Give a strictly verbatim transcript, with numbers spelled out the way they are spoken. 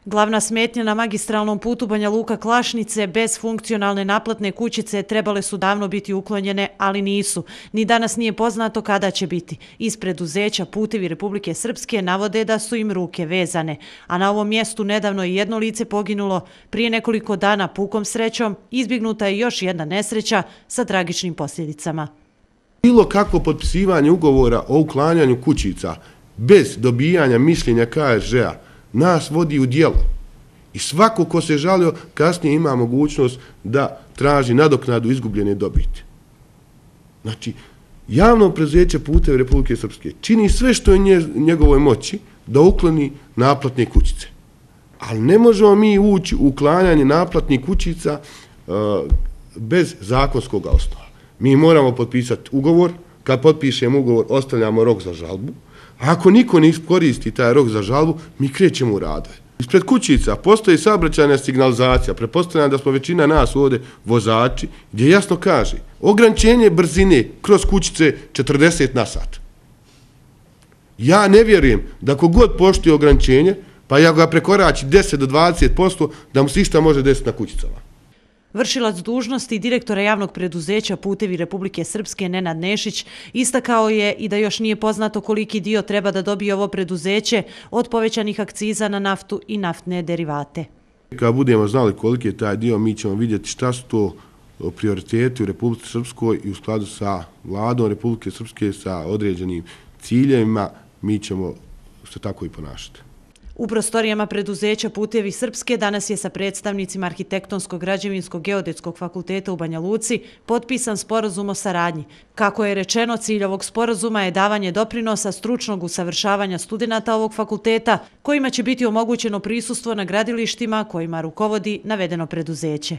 Glavna smetnja na magistralnom putu Banja Luka-Klašnice bez funkcionalne naplatne kućice trebale su davno biti uklonjene, ali nisu. Ni danas nije poznato kada će biti. Iz preduzeća Putevi Republike Srpske navode da su im ruke vezane. A na ovom mjestu nedavno je jedno lice poginulo. Prije nekoliko dana pukom srećom izbjegnuta je još jedna nesreća sa tragičnim posljedicama. Bilo kakvo potpisivanje ugovora o uklanjanju kućica bez dobijanja mišljenja K R Ž-a nas vodi u djelo. I svako ko se žalio kasnije ima mogućnost da traži nadoknadu izgubljene dobiti. Znači, javno preduzeće Putevi Republike Srpske čini sve što je njegovoj moći da ukloni naplatne kućice. Ali ne možemo mi ući u uklanjanje naplatnih kućica uh, bez zakonskog osnova. Mi moramo potpisati ugovor, kad potpišemo ugovor ostavljamo rok za žalbu. Ako niko ne koristi taj rok za žalbu, mi krećemo u radove. Ispred kućica postoji saobraćajna signalizacija, pretpostavljam da smo većina nas ovdje vozači, gdje jasno kaže ograničenje brzine kroz kućice četrdeset na sat. Ja ne vjerujem da kogod poštuje ograničenje, pa ja ga prekorači deset do dvadeset posto, da mu se išta može desiti na kućicama. Vršilac dužnosti direktora javnog preduzeća Putevi Republike Srpske Nenad Nešić istakao je i da još nije poznato koliki dio treba da dobije ovo preduzeće od povećanih akciza na naftu i naftne derivate. Kad budemo znali koliki je taj dio, mi ćemo vidjeti šta su to prioriteti u Republike Srpskoj i u skladu sa vladom Republike Srpske, sa određenim ciljevima, mi ćemo se tako i ponašati. U prostorijama preduzeća Putevi Srpske danas je sa predstavnicima Arhitektonskog građevinskog geodetskog fakulteta u Banja Luci potpisan sporazum o saradnji. Kako je rečeno, cilj ovog sporazuma je davanje doprinosa stručnog usavršavanja studenata ovog fakulteta, kojima će biti omogućeno prisustvo na gradilištima kojima rukovodi navedeno preduzeće.